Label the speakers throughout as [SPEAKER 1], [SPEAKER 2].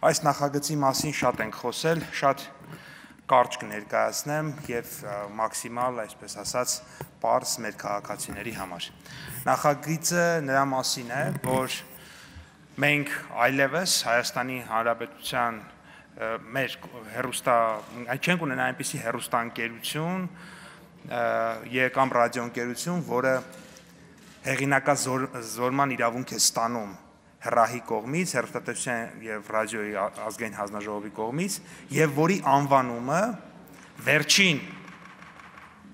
[SPEAKER 1] Այս նախագծի մասին շատ ենք խոսել, շատ կարճ կներկայացնեմ եւ մաքսիմալ, այսպես ասած, պարզ մեր քաղաքացիների համար։ Նախագիծը նրա մասին է, որ մենք այլևս Հայաստանի Հանրապետության մեր չենք ունենա այնպիսի հեռուստաընկերություն կամ ռադիոընկերություն, որը հեղինակազորման իրավունք է ստանում հեռահի կողմից, հեռուստատեսության եւ ռադիոյի ազգային հանձնաժողովի կողմից, եւ որի անվանումը վերջին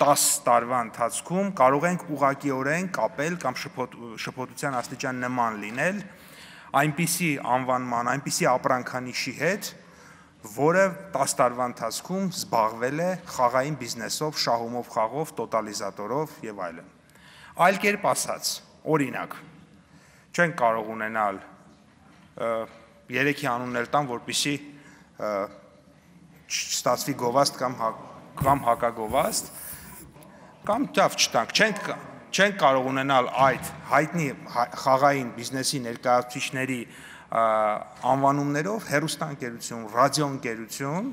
[SPEAKER 1] 10 տարվա ընթացքում կարող ենք ուղղակիորեն կապել կամ շփոթության աստիճան նման լինել այնպիսի անվանման, այնպիսի ապրանքանիշի հետ, որը 10 տարվա ընթացքում զբաղվել է խաղային բիզնեսով, շահումով, խաղով, տոտալիզատորով եւ այլն։ Այլ կերպ ասած, օրինակ, չենք կարող ունենալ 3-ի անուններ տամ, որպեսզի չստացվի գովաստ կամ հակագովաստ, կամ դավ չտանք, չենք կարող ունենալ այդ հայտնի խաղային բիզնեսի ներկայացուցիչների անվանումներով հեռուստաընկերություն, ռադիոընկերություն,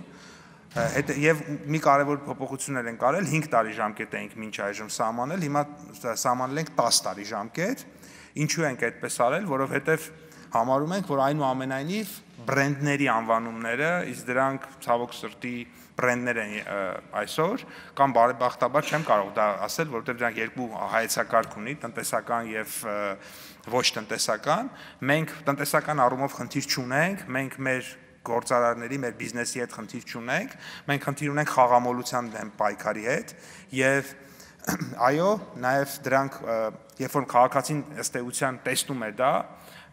[SPEAKER 1] եւ մի կարևոր փոփոխություններ են կարել, 5 տարի ժամկետ էինք մինչ այժմ սահմանել, հիմա սահմանել ենք 10 տարի ժամկետ։ Ինչու ենք այդպես արել, որովհետեւ համարում ենք, որ այնուամենայնիվ բրենդների անվանումները, իսկ դրանք ցավոք սրտի բրենդներ են այսօր, կամ բարեբախտաբար չեմ կարող դա ասել, որովհետեւ դրանք երկու հայեցակարգ ունի, տնտեսական եւ ոչ տնտեսական։ Մենք տնտեսական առումով խնդիր չունենք, մենք մեր գործարարների, մեր բիզնեսի հետ խնդիր չունենք, մենք խնդիր ունենք խաղամոլության դեմ պայքարի հետ եւ այո, նաեւ դրանք երբ որ քաղաքացին ըստ էության տեսնում է դա,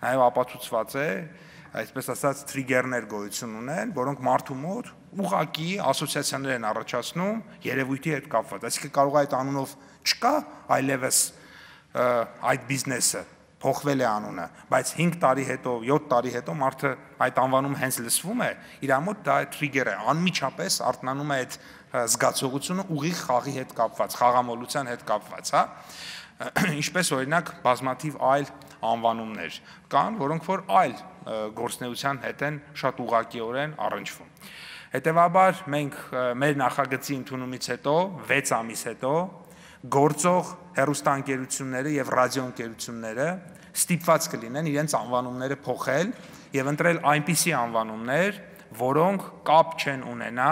[SPEAKER 1] նաեւ ապացուցված է, այսպես ասած տրիգերներ գոյություն ունեն, որոնք մարդու մոտ ուղղակի ասոցիացիաներ են առաջացնում երևույթի հետ կապված։ Այսինքն կարող է այդ անունով չկա այլևս այդ բիզնեսը, փոխվել է անունը, բայց 5 տարի հետո, 7 տարի հետո մարդը այդ անվանումը հենց լսվում է, իր մոտ դա տրիգեր է, անմիջապես արթնանում է այդ զգացողությունը ուղիղ խաղի հետ կապված, խաղամոլության հետ կապված, հա։ Ինչպես օրինակ բազմաթիվ այլ անվանումներ կան, որոնք որ այլ գործունեության հետ են շատ ուղղակիորեն առնչվում։ Հետևաբար մենք մեր նախագծի ընդունումից հետո 6 ամիս հետո գործող հեռուստաընկերությունները եւ ռադիոընկերությունները ստիպված կլինեն իրենց անվանումները փոխել եւ ընտրել այնպիսի անվանումներ, որոնք կապ չեն ունենա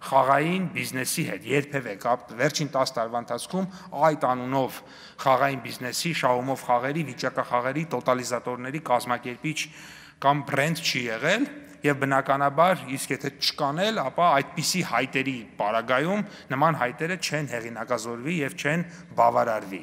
[SPEAKER 1] խաղային բիզնեսի հետ, երբևէ կապ վերջին 10 տարվա ընթացքում այդ անունով խաղային բիզնեսի, շահումով խաղերի, վիճակախաղերի, տոտալիզատորների կազմակերպիչ կամ բրենդ չի եղել եւ բնականաբար իսկ եթե չկան էլ, ապա այդպիսի հայտերի պարագայում նման հայտերը չեն հեղինակազորվի եւ չեն բավարարվի։